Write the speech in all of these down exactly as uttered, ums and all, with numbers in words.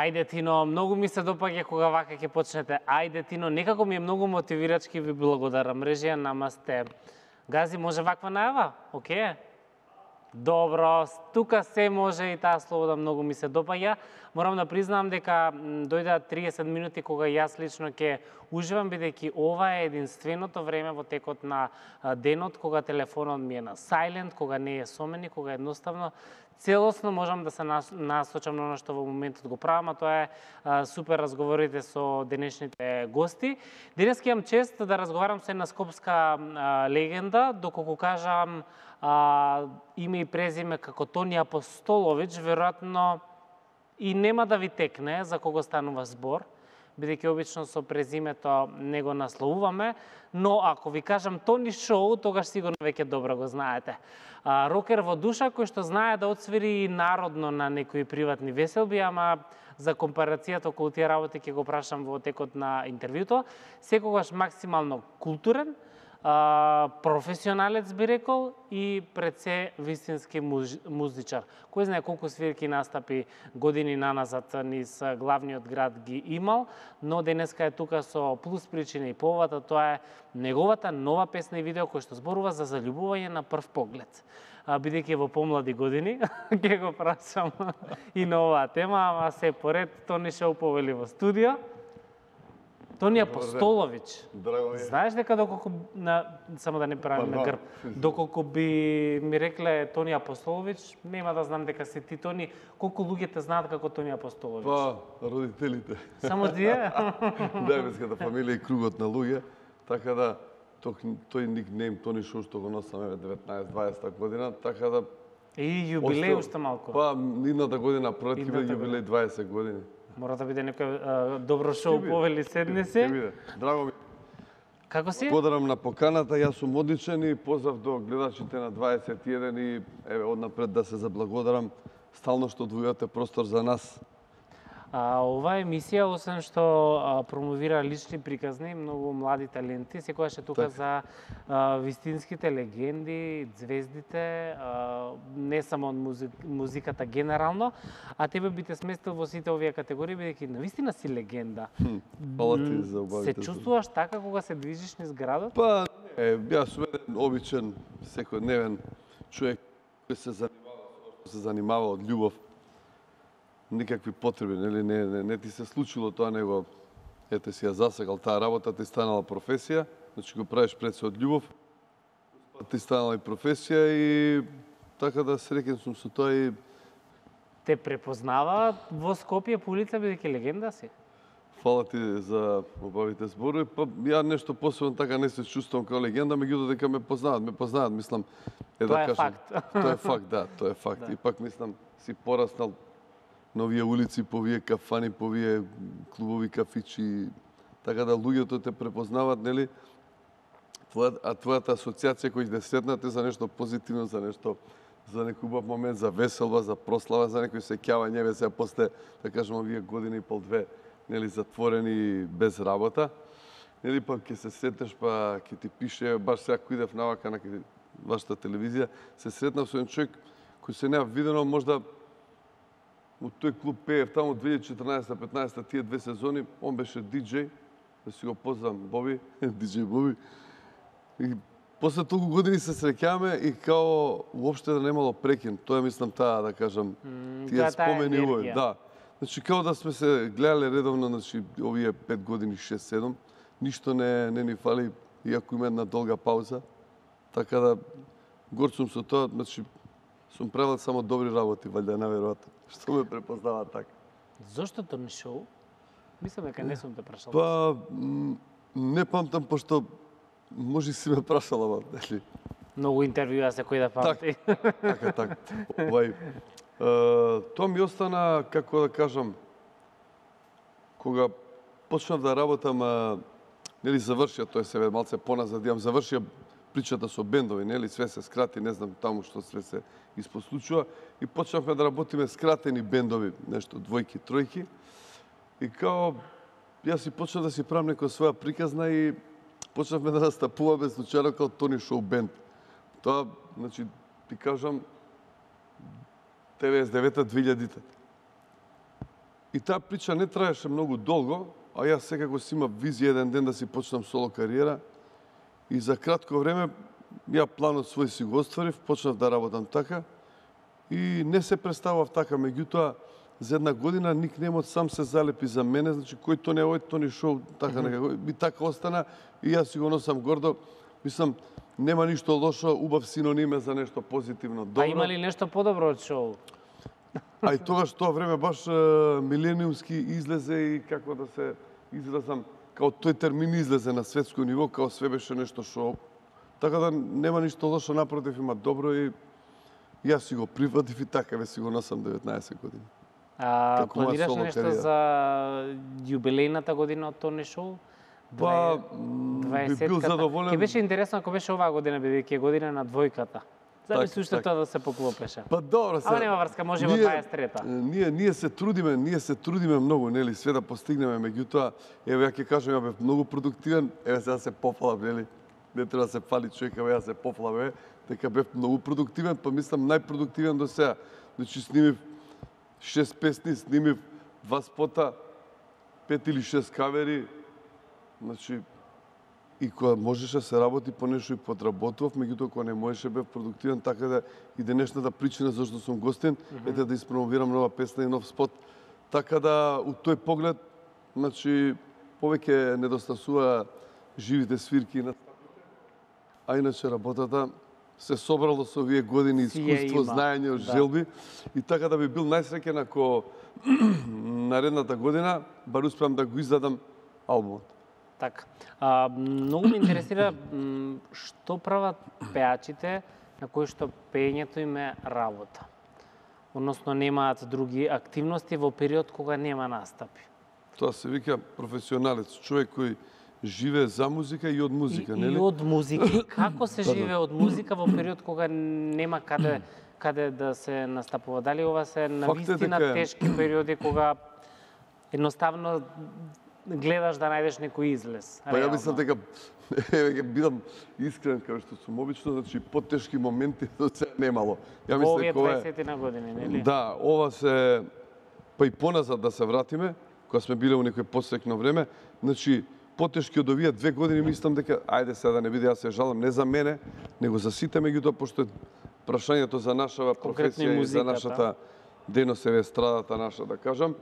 Ајде Тино, многу ми се допаѓа кога вака ќе почнете. Ајде Тино, некако ми е многу мотивирачки, ви благодарам. Режија, намасте. Гази, може ваква најава? Океј? Добро, тука се може и таа слобода многу ми се допаѓа. Морам да признам дека дојдат триесет минути кога јас лично ќе уживам, бидејќи ова е единственото време во текот на денот кога телефонот ми е на silent, кога не е со мене, кога едноставно целосно можам да се насочам на оно што во моментот го правам, а тоа е а, супер разговорите со денешните гости. Денес ќе имам чест да разговарам со една скопска а, легенда, доколку кажам а, име и презиме како Тони Апостолович, веројатно и нема да ви текне за кого станува збор, бидејќи обично со презимето не го насловуваме, но ако ви кажам Тони Шоу, тогаш сигурно веќе добро го знаете. А, рокер во душа кој што знае да отсвири и народно на некои приватни веселби, ама за компарацијата околу тие работи ќе го прашам во текот на интервјуто, секогаш максимално културен, Uh, професионалец би рекол и пред се вистински муж, музичар. Кој знае колку свирки настапи години наназад низ главниот град ги имал, но денеска е тука со плюс причина и повата, тоа е неговата нова песна и видео кој што зборува за заљубување на прв поглед. Uh, бидејќи во помлади години ќе го прашам и на оваа тема, ама се поред Тони Шоу повели во студио. Тони Апостолович. Драго ми. Знаеш дека доколку на само да не правиме на грб, доколку би ми рекле Тони Апостолович, нема да знам дека си ти Тони. Колку луѓе те знаат како Тони Апостолович? Па, родителите. Само тие? Најмеската фамилија и кругот на луѓе, така да тој, тој никнейм Тони Шоу што го носам деветнаесет дваесета година, така да И јубилеј уште малку. Па, идната година пролет ќе биде јубилеј дваесет години. Мора да биде некој добро шоу повели седне се. Ќе биде. Драго ми. Како си? Благодарам на поканата, јас сум одличен и поздрав до гледачите на дваесет и еден и еве однапред да се заблагодарам стално што одвојувате простор за нас. А, оваа емисија, освен што а, промовира лични приказни, многу млади таленти, секогаш е тука так. за а, вистинските легенди, звездите, а, не само од музи... музиката генерално, а тебе би те сместил во сите овие категории, бидејќи навистина си легенда. Фала ти за убавите. Се чувствуваш така кога се движиш низ градот? Па, е, јас сум еден обичен, секојдневен човек кој се занимава, се занимава од љубов. Никакви потреби, нели, не, не, не ти се случило тоа, него ете си ја засегал таа работа, ти станала професија, значи го правиш пред се од љубов, ти станала и професија и така да среќен сум со тоа и... Те препознаваат во Скопје по улица, бидејќи легенда си? Фала ти за убавите зборови, па ја нешто посебно така не се чувствувам како легенда, меѓутоа дека ме познаваат, ме познаваат, мислам, е тоа да е кажам. факт. Тоа е факт, да, тоа е факт. Да. И пак мислам, си пораснал на овие улици, по овие кафани, по овие клубови, кафичи, така да луѓето те препознават, нели? Твоја, а твојата асоциација кој ќе седнате за нешто позитивно, за нешто, за некој убав момент, за веселба, за прослава, за некој сеќавање, еве сега после, да кажем, овие години и пол две, нели, затворени без работа, нели, па ќе се сетнеш, па ќе ти пише, баш сега кој идев навака на вашата телевизија, се сретнав со еден човек кој се неа видено можда од тој клуб пеев таму две илјади и четрнаесета петнаесета тие две сезони, он беше диџеј, да си го познам Боби, диџеј Боби. И после толку години се среќаваме и као уопште да немало прекин. Тоа мислам таа, да кажам, тие спомени овој, да. Значи као да сме се гледале редовно, значи овие пет години, шест седум, ништо не не ни фали, иако има една долга пауза. Така да горд сум со тоа, значи сум правил само добри работи, валјда наверојатно. Што ме препознава така. Зошто Тони Шоу? Мислам дека не сум те прашал. Па, не памтам, пошто може си ме прашала, ама, нели? Многу интервјуа секој да памти. Так, така, така. Овај, тоа ми остана, како да кажам, кога почнав да работам, нели, завршија, тоа се малце поназад, јам завршија причата со бендови, нели, све се скрати, не знам таму што све се испослучува, и почнавме да работиме скратени бендови, нешто двојки, тројки, и као, јас и почнав да си правам некоја своја приказна и почнавме да настапуваме случајно као Тони Шоу бенд. Тоа, значи, ти кажам, деветдесет и девета две илјадите. И таа прича не траеше многу долго, а јас секако си имав визија еден ден да си почнам соло кариера. И за кратко време, ја планот свој си го остварив, почнав да работам така. И не се представав така, меѓутоа, за една година никнемот сам се залепи за мене, значи кој то не ој, то не шоу, така mm -hmm. некако. И така остана, и јас си го носам гордо. Мислам, нема ништо лошо, убав синониме за нешто позитивно, добро. А има ли нешто подобро од шоу? А и тогаш тоа време баш милениумски излезе и како да се изразам, као тој термин излезе на светско ниво, као све беше нешто шоу. Така да нема ништо лошо, напротив има добро и јас си го прифатив и така ве си го носам деветнаесет години. А планираш нешто за јубилејната година од тоа шоу? Па, би бил задоволен. Ке беше интересно ако беше оваа година, бидејќи е година на двојката. Замисли уште тоа да се поклопеше. Па добро се. Ама нема врска, може во дваесет и трета. Ние ние се трудиме, ние се трудиме многу, нели, све да постигнеме, меѓутоа, еве ја ќе кажам, ја бев многу продуктивен, еве сега се пофалав, нели? Не треба да се фали човек, еве ја се пофалав, еве, дека бев многу продуктивен, па мислам најпродуктивен до сега. Значи снимив шест песни, снимив два спота, пет или шест кавери, значи и кога можеше да се работи по нешто и подработував, меѓутоа кога не можеше бев продуктивен, така да и денешната причина зашто сум гостин, mm -hmm. ете да испромовирам нова песна и нов спот. Така да, у тој поглед, значи, повеќе недостасува живите свирки на а иначе работата се собрало со овие години искуство, знаење, од да. желби и така да би бил најсреќен ако наредната година бар успеам да го издадам албумот. Така. А, многу ме интересира што прават пеачите на кои што пеењето им е работа. Односно немаат други активности во период кога нема настапи. Тоа се вика професионалец, човек кој живее за музика и од музика, и, нели? И од музика. И како се живее од музика во период кога нема каде каде да се настапува? Дали ова се навистина дека... тешки периоди кога едноставно гледаш да најдеш некој излез? Па ја мислам дека еве ќе бидам искрен како што сум обично, значи потешки моменти до сега немало. Ја мислам дека ова е дваесет на години, нели? Да, ова се па и поназад да се вратиме, кога сме биле во некој посекно време, значи потешки од овие две години мислам дека ајде сега да не биде јас се жалам не за мене, него за сите, меѓутоа пошто прашањето за нашава професија и за нашата дејност е естрадата наша, да кажам,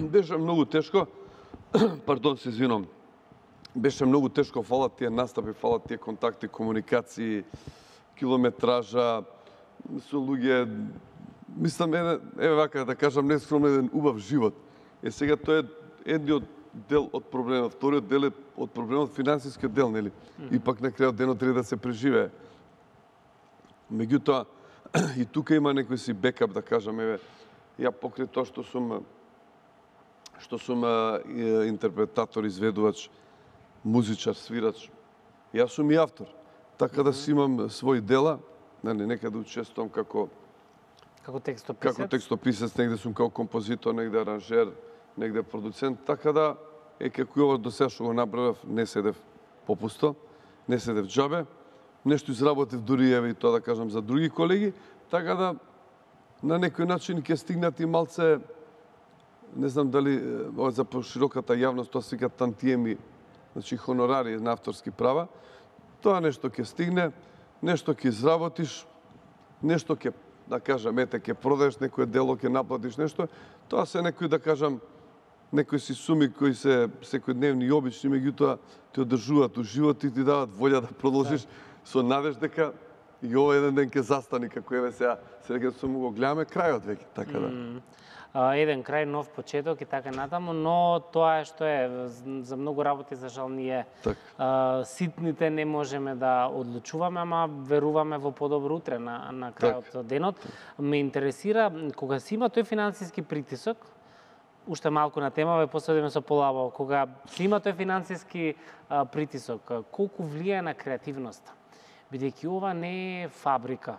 беше многу тешко. Пардон, се извинувам. Беше многу тешко, фалат тие настапи, фалат тие контакти, комуникации, километража со луѓе. Мислам, еве, еве вака да кажам, нескромно еден убав живот. Е сега тоа е едниот дел од проблемот, вториот дел е од проблемот финансискиот дел, нели? Mm -hmm. И пак на крајот денот треба да се преживее. Меѓутоа, и тука има некој си бекап, да кажам, еве, ја покрај тоа што сум што сум а, интерпретатор, изведувач, музичар, свирач. Јас сум и автор. Така да си имам своји дела, нели, некаде учествувам како како текстописец. Како текстописец, негде сум како композитор, негде аранжер, негде продуцент, така да е како ова до сега што го направив, не седев попусто, не седев џабе. Нешто изработив дури еве и тоа да кажам за други колеги, така да на некој начин ќе стигнат и малце, не знам дали ова за пошироката јавност, тоа се вика тантиеми, значи хонорари на авторски права. Тоа нешто ќе стигне, нешто ќе изработиш, нешто ќе, да кажам, ете, ќе продадеш некој дело, ќе наплатиш нешто. Тоа се некои, да кажам, некои си суми кои се секојдневни и обични, меѓутоа те одржуваат у живот и ти дават волја да продолжиш да. Со надеж дека и ова еден ден ќе застани, како еве сега, сега сум го гледаме крајот веќе, така да. Mm. Еден крај, нов почеток и така натаму, но тоа е што е, за многу работи, за жал, ние так. а, ситните не можеме да одлучуваме, ама веруваме во подобро утре на, на крајот так. денот. Так. Ме интересира, кога си има тој финансиски притисок, уште малку на тема, ве посветиме со полабаво, кога си има тој финансиски а, притисок, колку влијае на креативноста? Бидејќи ова не е фабрика.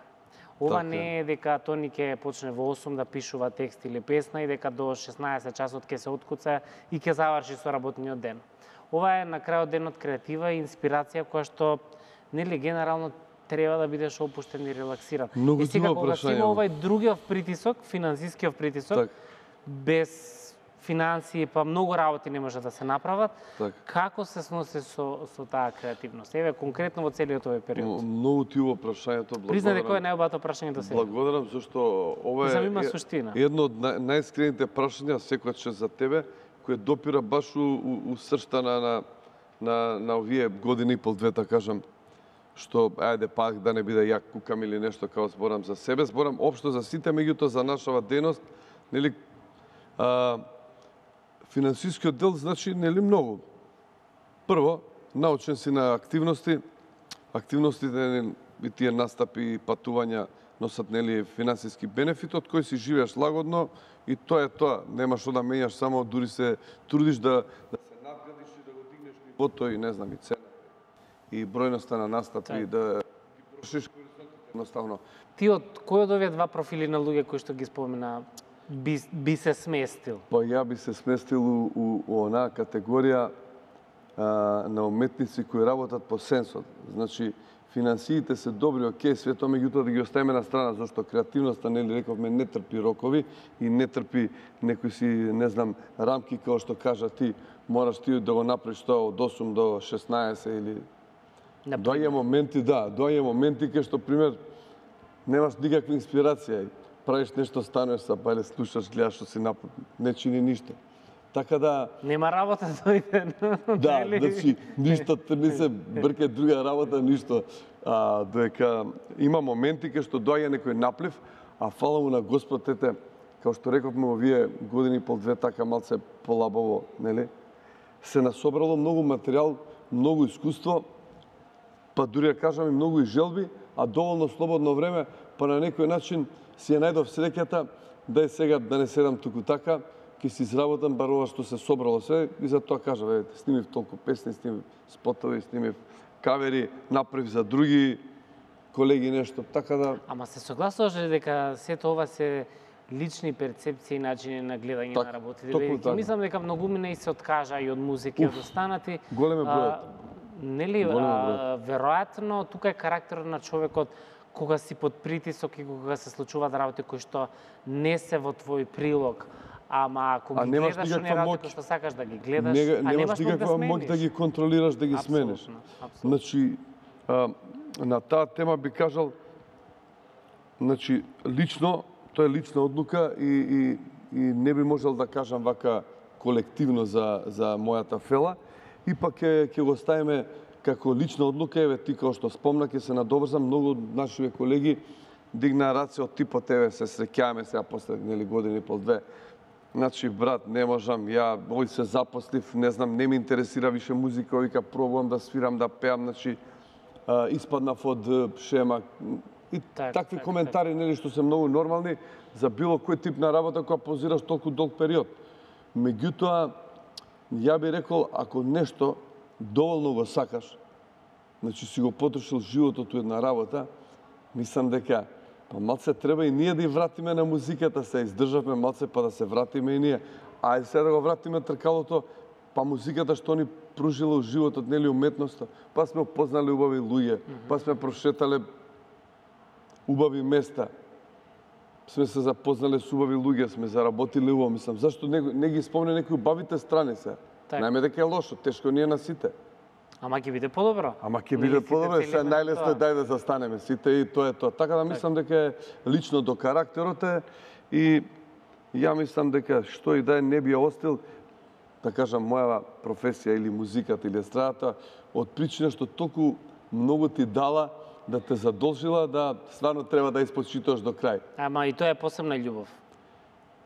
Ова так, не е дека Тони ќе почне во осум да пишува текст или песна и дека до шеснаесет часот ќе се откуца и ќе заврши со работниот ден. Ова е на крајот денот креатива и инспирација која што нели генерално треба да бидеш опуштен и релаксиран. Многу и сега кога си има овај другиот притисок, финансискиот притисок, так. без финансии, па многу работи не може да се направат. Така. Како се сноси со, со таа креативност? Еве, конкретно во целиот овој период. Многу ти убаво прашањето, благодарам. Признаде кој е најубавото прашање до сега? Благодарам, зашто ова Мислам, е има суштина. едно од нај- најискрените прашања секогаш за тебе, кој допира баш у, у, у сршта на, на, на, на овие години и пол две, да кажам, што, ајде пак да не биде јак кукам или нешто, као зборам за себе, зборам општо за сите, меѓутоа за нашава дејност, нели, а, финансискиот дел значи нели многу. Прво, научен си на активности, активностите и тие настапи и патувања носат нели финансиски бенефит од кој си живееш лагодно и тоа е тоа. Немаш што да менјаш, само дури се трудиш да да се надградиш и да го дигнеш нивото и не знам и цена и бројноста на настапи Так. да ги прошиш корисното едноставно. Ти од кој од овие два профили на луѓе кои што ги спомена би, би се сместил? Па ја би се сместил у, у, у онаа категорија а, на уметници кои работат по сенсот. Значи, финансиите се добри, окей, све тоа, меѓутоа да ги оставиме на страна, зашто креативноста, нели рековме, не трпи рокови и не трпи некои си, не знам, рамки, како што кажа ти, мораш ти да го направиш тоа од осум до шеснаесет или... Доаѓа моменти, да, доаѓа моменти кај што, пример, немаш никаква инспирација и правиш нешто, станеш са, па или слушаш, гледаш што си напад, не чини ништо. Така да... Нема работа дојде. Да, значи, ништо, не се брке друга работа, ништо. А, дека има моменти кај што доаѓа некој наплив, а фала му на Господ, ете, како што рековме овие години и пол две, така малце полабаво, нели? Се насобрало многу материјал, многу искуство, па дури да кажам и многу и желби, а доволно слободно време, па на некој начин си ја најдов среќата, дај сега да не седам туку така, ќе си изработам бар ова што се собрало се и за тоа кажав, еве, снимив толку песни, снимив спотови, снимив кавери, направив за други колеги нешто, така да... Ама се согласуваш ли дека сето ова се лични перцепции и начини на гледање Так, на работите? токму Бидејќи така. мислам дека многумина и се откажа и од музика и од останати. голем е бројот. Нели, Голем е а, веројатно тука е карактерот на човекот кога си под притисок и кога се случуваат работи кои што не се во твој прилог, ама ако А ги немаш гледаш оние никаква работи моќ. кои што сакаш да ги гледаш, Не, а немаш немаш моќ да никаква моќ смениш. да ги контролираш, да ги смениш. Апсолутно, апсолутно. Значи, а, на таа тема би кажал, значи, лично, тоа е лична одлука и, и, и не би можел да кажам вака колективно за, за мојата фела, и пак ќе, ќе го ставиме како лична одлука, еве ти како што спомна, ќе се надоврзам, многу од нашите колеги дигнаа раце од типот, еве се среќаваме сега после нели години и пол две. Значи, брат, не можам, ја овој се запослив, не знам, не ми интересира више музика, вика пробувам да свирам, да пеам, значи, а, испаднав од е, шема. И Так, такви так, коментари, нели, што се многу нормални за било кој тип на работа која позираш толку долг период. Меѓутоа, ја би рекол, ако нешто доволно го сакаш, значи си го потрошил животот у една работа, мислам дека па малце треба и ние да и вратиме на музиката, се издржавме малце па да се вратиме и ние. Ајде сега да го вратиме тркалото, па музиката што ни пружила у животот, нели уметноста, па сме опознали убави луѓе, па сме прошетале убави места, сме се запознале со убави луѓе, сме заработиле убаво, мислам, зашто не, не ги спомне некои убавите страни се? Так. Најме дека е лошо, тешко ни е на сите. Ама ќе биде подобро. Ама ќе Нели биде сите подобро, сега целиме на најлесно е тоа? дај да застанеме сите и тоа е тоа. Така да мислам дека е лично до карактерот е и ја мислам дека што и да е не би ја остил, да кажам, моја професија или музиката или естрадата, од причина што толку многу ти дала да те задолжила да стварно треба да испочитуваш до крај. Ама и тоа е посебна љубов.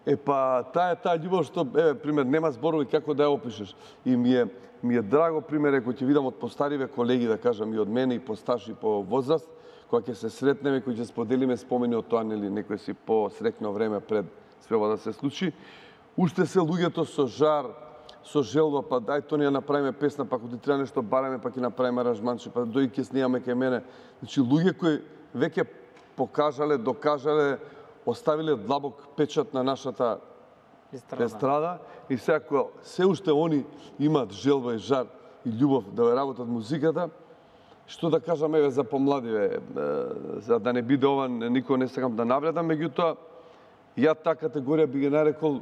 Е па таа е таа љубов што еве пример нема зборови како да ја опишеш. И ми е ми е драго пример ако ќе видам од постариве колеги да кажам и од мене и постарши по возраст, кога ќе се сретнеме, кои ќе споделиме спомени од тоа нели некој си по среќно време пред све ова да се случи. Уште се луѓето со жар, со желба, па дај тоа ние направиме песна, па ако ти треба нешто бараме, па ќе направиме аранжманче, па дојди ќе снимаме кај мене. Значи луѓе кои веќе покажале, докажале, оставиле длабок печат на нашата Естрада. естрада и сега кога се уште они имаат желба и жар и љубов да ја работат музиката, што да кажам еве за помладиве, е, за да не биде ова никој не сакам да навредам, меѓутоа ја таа категорија би ги нарекол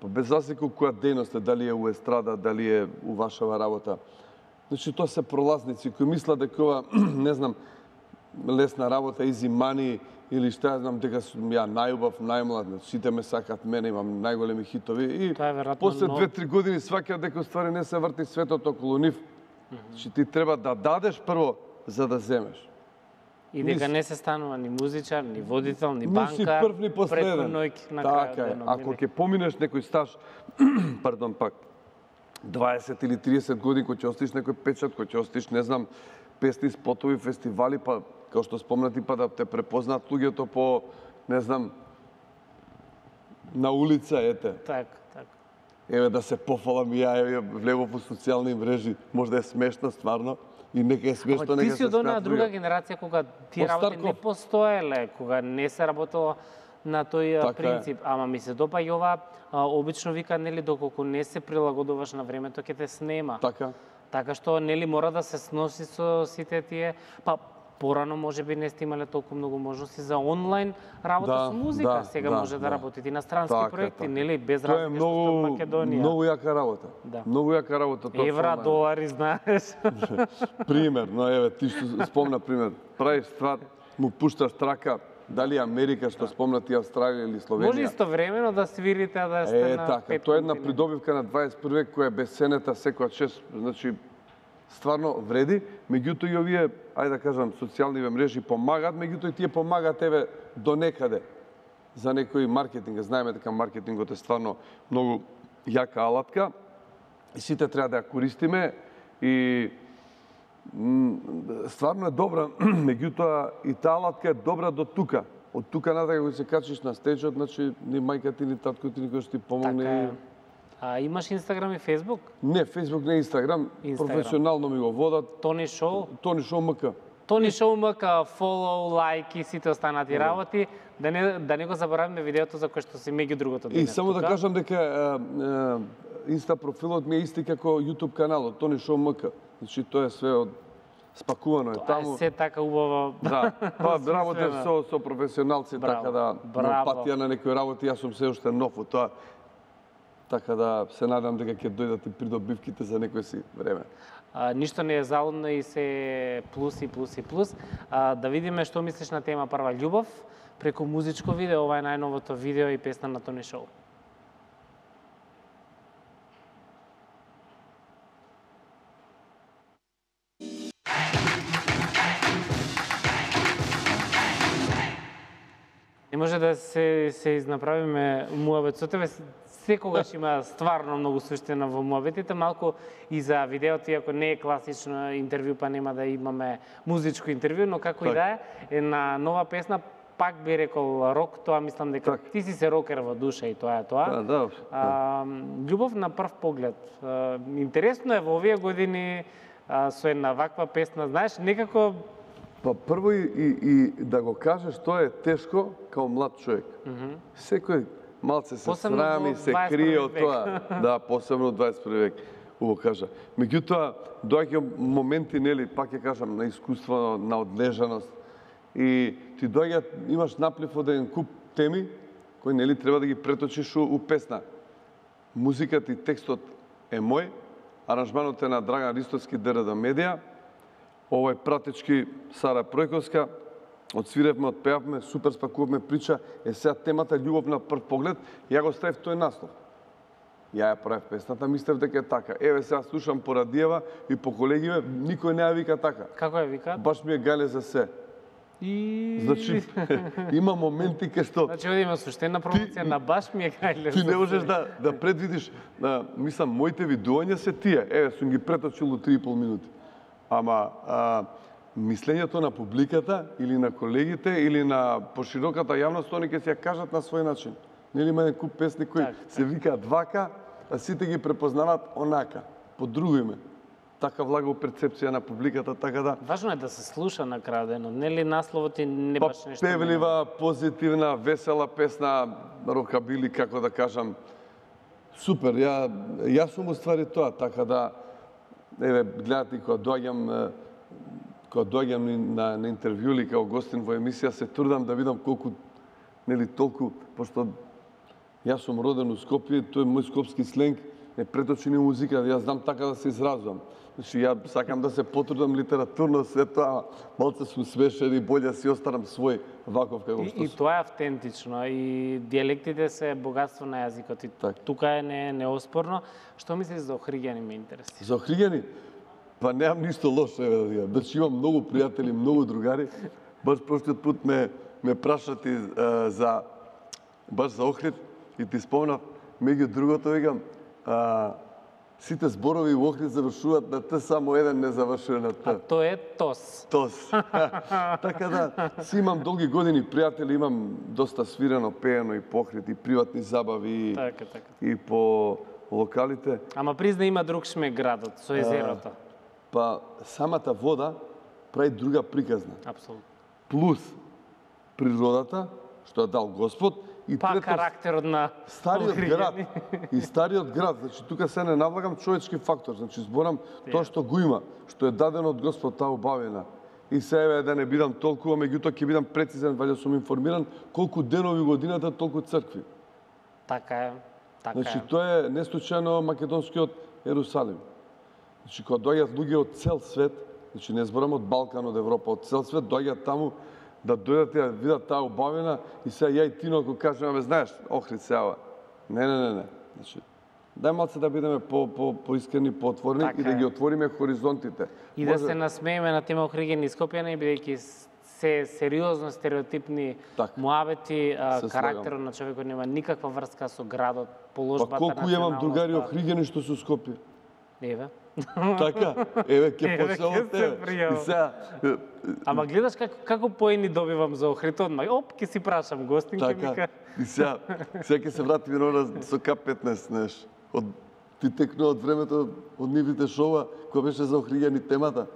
Па без разлика која дејност е, дали е у естрада, дали е у вашава работа. Значи, тоа се пролазници кои мислат дека ова, не знам, лесна работа, easy money, или што ја знам, дека сум ја најубав, најмлад, сите ме сакат мене, имам најголеми хитови. И Тоа е веројатно после но- две-три години сваќаат дека ствари не се врти светот околу нив. Значи, ти треба да дадеш прво за да земеш. И дека Низ- не се станува ни музичар, ни водител, ни Ни си банкар, прв ни последен. преку ноќ на Така крајот е. денот, Ако нели? ќе поминеш некој стаж, пардон, пак, дваесет или триесет години, кој ќе остиш некој печат, кој ќе остиш, не знам, песни, спотови, фестивали, па, како што спомнати, па да те препознаат луѓето по, не знам, на улица, ете. Така, така. Еве да се пофалам и ја, еве, влегов во социјални мрежи, можда е смешно, стварно, и нека е смешно, Ама ти нека си се од онаа смеат друга луѓе. генерација кога тие Од работи не Старков. постоеле, кога не се работело на тој а, Така е. принцип. Ама ми се допаѓа ова, а, обично вика, нели, доколку не се прилагодуваш на времето, ќе те снема. Така. Така што, нели, мора да се сноси со сите тие, па порано може би не сте имале толку многу можности за онлайн работа Да, со музика. да, Сега да, може да, да. работите и на странски Така е, проекти, така. нели, без Тоа е разлика што сте од многу, Македонија. многу јака работа. Да. Многу јака работа. тоа Евра, со онлайн. долари, знаеш. Пример, но еве, ти што спомна пример, правиш ствар, му пушташ трака, дали Америка, што спомна ти Австралија или Словенија. Може истовремено да свирите, а да сте Е, на така, пет тоа е една континенти. придобивка на дваесет први век која е бесценета секоја чест, значи стварно вреди, меѓутоа и овие, ајде да кажам, социјални мрежи помагаат, меѓутоа и тие помагаат еве до некаде за некој маркетинг. Знаеме дека маркетингот е стварно многу јака алатка и сите треба да ја користиме и м, стварно е добра, меѓутоа и таа алатка е добра до тука. Од тука натака кога се качиш на стејџот, значи ни мајка ти ни татко ти никој што ти помогне. Така е. и- А имаш Инстаграм и Фейсбук? Не, Фейсбук, не Инстаграм, Инстаграм. професионално ми го водат. Тони Шоу? Тони Шоу МК. Тони Шоу МК, фолоу, лайк и сите останати работи. Да не, да не го заборавиме видеото за кое што си меѓу другото И денес само да тука. кажам дека е, е, Инста профилот ми е исти како YouTube каналот, Тони Шоу МК. Значи тоа е све од спакувано е Тоа таму. е се така убаво. Да, па работев Смислено. со со професионалци, Браво, така да браво. на патија на некои работи јас сум се уште нов во тоа. Така да се надам дека ќе дојдат и придобивките за некој си време. А, ништо не е залудно и се плюс и плюс и плюс. А, да видиме што мислиш на тема прва љубов преку музичко видео. Ова е најновото видео и песна на Тони Шоу. Не може да се, се изнаправиме муабет со тебе. Секогаш има стварно многу суштина во муабетите. Малку и за видеото, иако не е класично интервју, па нема да имаме музичко интервју, но како и да е, една нова песна, пак би рекол рок, тоа мислам дека Так. ти си се рокер во душа и тоа е тоа. Да, да. А, љубов на прв поглед. А, интересно е во овие години а, со една ваква песна, знаеш, некако Па прво и, и, и да го кажеш, тоа е тешко као млад човек. Mm -hmm. Секој малце се Посебно срами, во се дваесет први крие од век. тоа. Да, посебно во дваесет први век, убаво кажа. Меѓутоа, доаѓа моменти, нели, пак ќе кажам, на искуство, на одлежаност. И ти доаѓа, имаш наплив од еден куп теми, кои, нели, треба да ги преточиш у, у песна. Музиката и текстот е мој, аранжманот е на Драган Ристовски, ДРД Медија, овој пратечки Сара Пројковска, одсвиревме, одпеавме, супер спакувавме прича, е сега темата љубов на прв поглед, ја го ставив тој наслов. Ја ја правев песната, мислев дека е така. Еве сега слушам по радиева и по колегиве, никој не ја вика така. како ја викаат? Баш ми е гале за се. И... Значи, има моменти кај што Значи, овде има суштена промоција на баш ми е гајле. ти не можеш да да предвидиш, а, мислам, моите видувања се тие. Еве, сум ги преточил у три и пол минути. Ама а, мислењето на публиката или на колегите или на пошироката јавност, они ќе се ја кажат на свој начин. Нели има еден куп песни кои Так, се викаат вака, а сите ги препознаваат онака, по друго име. Така влага у перцепција на публиката, така да Важно е да се слуша на крај денот, нели насловот и не па, баш нешто. певлива, позитивна, весела песна, рокабили, како да кажам. Супер, ја, јас сум уствари тоа, така да, еве, гледате, кога доаѓам, е, кога доаѓам ни на, на интервју или као гостин во емисија, се трудам да видам колку, нели, толку, пошто Јас сум роден у Скопје, тој мој скопски сленг е преточен и музика, јас знам така да се изразувам. Значи, ја сакам да се потрудам литературно, све тоа, малце сум смешен и болje да си останам свој ваков како што И, и тоа е автентично, и дијалектите се богатство на јазикот, и Так. тука е не, неоспорно. Што мислиш за Охриѓани, ме интересира? За Охриѓани, па немам ништо лошо, еве да ви кажам. Значи имам многу пријатели, многу другари. Баш прошлиот пат ме ме прашати е, за баш за Охрид и ти спомнав, меѓу другото викам, а, сите зборови во Охрид завршуваат на Т, само еден не завршува на А Т. тоа е ТОС. Тос. Така да, си имам долги години пријатели, имам доста свирено, пеено и по Охрид, и приватни забави, и, Така, така. и по локалите. Ама призна има друг шмек градот, со езерото. Па самата вода прави друга приказна. Апсолутно. Плюс природата, што ја дал Господ, и Па трето, карактерот на стариот Охриѓани. град. И стариот град, значи тука се не навлагам човечки фактор, значи зборам тоа што го има, што е дадено од Господ, таа убавина. И се еве да не бидам толкува, меѓутоа ќе бидам прецизен, ваljda сум информиран колку денови годината, толку цркви. Така е. Така Значи е. тоа е не случајно македонскиот Ерусалим. Значи кога доаѓаат луѓе од цел свет, значи не зборам од Балкан, од Европа, од цел свет доаѓаат таму да дојдат и да видат таа убавина и сега ја и Тино ако кажеме, бе знаеш, Охрид се ава. Не, не, не, не. Значи дај малце да бидеме по по поискрени, поотворени Така и да е. ги отвориме хоризонтите. И да се насмееме на тема Охриѓани и Скопјани, бидејќи се сериозно стереотипни Така. муабети, а, Се карактерот на човекот нема никаква врска со градот, Па положбата, колку имам другари националноста. Охриѓани што се у Скопје. Еве. Така, еве ќе Еве, ќе почнеме од се тебе. пријавам. И сега е, Ама гледаш како, како поени добивам за Охрид одма. Оп, ќе си прашам гостин, ќе ми така. ка... И сега, сега ќе се вратиме на она со К петнаесет, знаеш. Од ти текнува од времето од нивните шоува која беше за Охриѓани темата.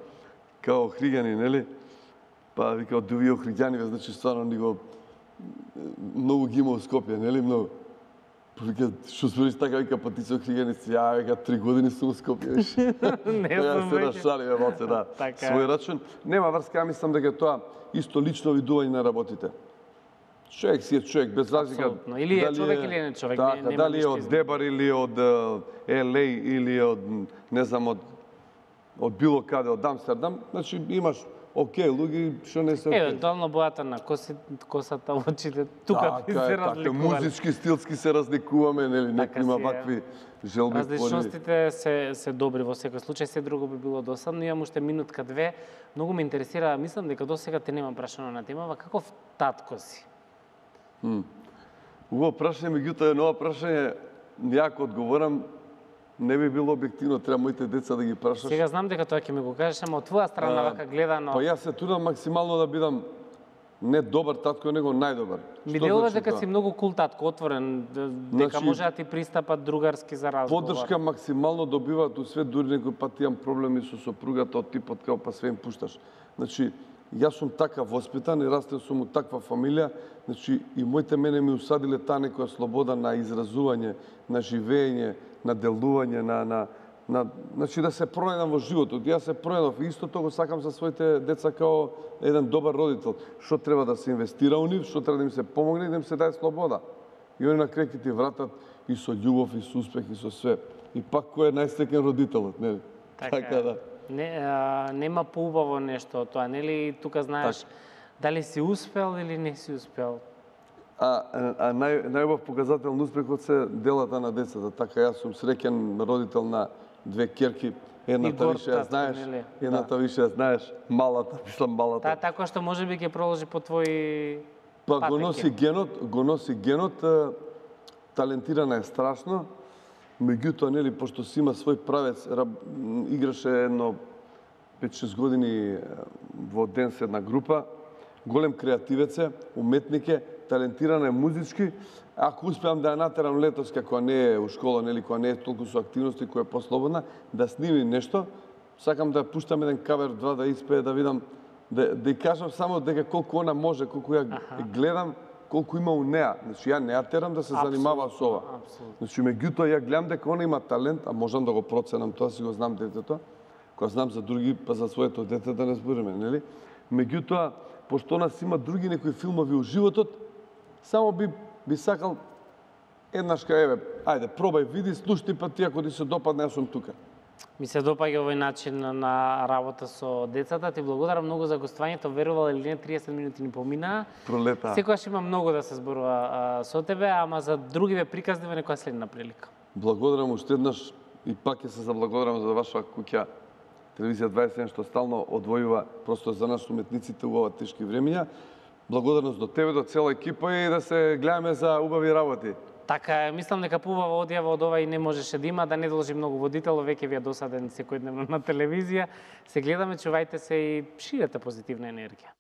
Као Охриѓани, нели? Па вика од овие Охриѓани, значи стварно ни го многу ги има у Скопје, нели многу. Па вика, што збориш така, вика, па ти се Охриѓани си, ја, вика, три години сум у Скопје, виш. Не Ја знам се веќе. нашалиме малце, да. Така е. Свој рачун. Нема врска, ја мислам дека тоа исто лично видување на работите. Човек си е човек, без разлика. Апсолутно. Или е дали човек или не човек, не- Така, нема дали е ништо од измеѓу. Дебар или од е, Ел Ей или од, не знам, од, од било каде, од Амстердам, значи имаш окей луѓе што не се окей. Евентуално бојата на коси, косата, очите, тука би Така се е, така, разликувале. музички, стилски се разликуваме, нели, некој Така има си е. вакви желби, пори. Различностите се, се добри во секој случај, се друго би било досадно. Имам уште минутка две. Многу ме интересира, мислам дека досега те немам прашано на темава, каков татко си? Убаво прашање, меѓутоа едно прашање, ја ако одговорам, не би било објективно, треба моите деца да ги прашаш. Сега знам дека тоа ќе ми го кажеш, ама од твоја страна А, вака гледано, Па јас се трудам максимално да бидам не добар татко, него најдобар. ми Што делува значи дека тоа? си многу кул татко, отворен, д- дека Значи, може да ти пристапат другарски за разговор. Поддршка максимално добиваат у свет, дури некој пат имам проблеми со сопругата од типот као па све им пушташ. Значи, јас сум така воспитан и растен сум у таква фамилија, значи и моите мене ми усадиле таа некоја слобода на изразување, на живење, на делување, на на на значи да се пронајдам во животот. Јас се пронајдов и истото го сакам за своите деца као еден добар родител. Што треба да се инвестира у нив, што треба да им се помогне и да им се даде слобода. И они на крај ќе ти вратат и со љубов, и со успех, и со све. И пак кој е најстекен родителот, нели? Така, Така да. Не, а, нема поубаво нешто од тоа, нели? Тука знаеш Така. дали си успел или не си успел. А, а нај, најубав показател на успехот се делата на децата. Така, јас сум среќен родител на две керки. Едната горд више ја татко, знаеш, нели? едната више ја знаеш, малата, мислам малата. Таа така што може би ќе продолжи по твои Па го патеки. носи генот, го носи генот, а, талентирана е страшно, меѓутоа, нели, пошто си има свој правец, раб, м, играше едно пет-шест години а, во ден се една група, голем креативец е, уметник е, талентирана е музички. Ако успеам да ја натерам летос, како не е у школа, нели, која не е толку со активности, која е послободна, да сними нешто, сакам да ја пуштам еден кавер два да испее, да видам, да, да ја кажам само дека колку она може, колку ја Аха. гледам, колку има у неа. Значи, ја не ја терам да се занимава со ова. Апсолутно. Значи, меѓутоа, ја гледам дека она има талент, а можам да го проценам тоа, си го знам детето. Кога знам за други, па за своето дете да не збориме, нели? Меѓутоа, пошто она си има други некои филмови у животот, само би би сакал еднашка, еве, ајде, пробај, види, слушни, па ти ако ти се допадне, јас сум тука. Ми се допаѓа овој начин на работа со децата. Ти благодарам многу за гостувањето. Верувал или не, триесет минути ни поминаа. Пролета. Секогаш има многу да се зборува а, со тебе, ама за други ве приказни во некоја следна прилика. Благодарам уште еднаш и пак ќе се заблагодарам за ваша куќа Телевизија дваесет и еден што стално одвојува просто за нас уметниците во ова тешки времиња. Благодарност до тебе, до цела екипа и да се гледаме за убави работи. Така е, мислам дека поубава одјава од ова и не можеше да има, да не должи многу водител, веќе ви е досаден секојдневно на телевизија. Се гледаме, чувајте се и ширете позитивна енергија.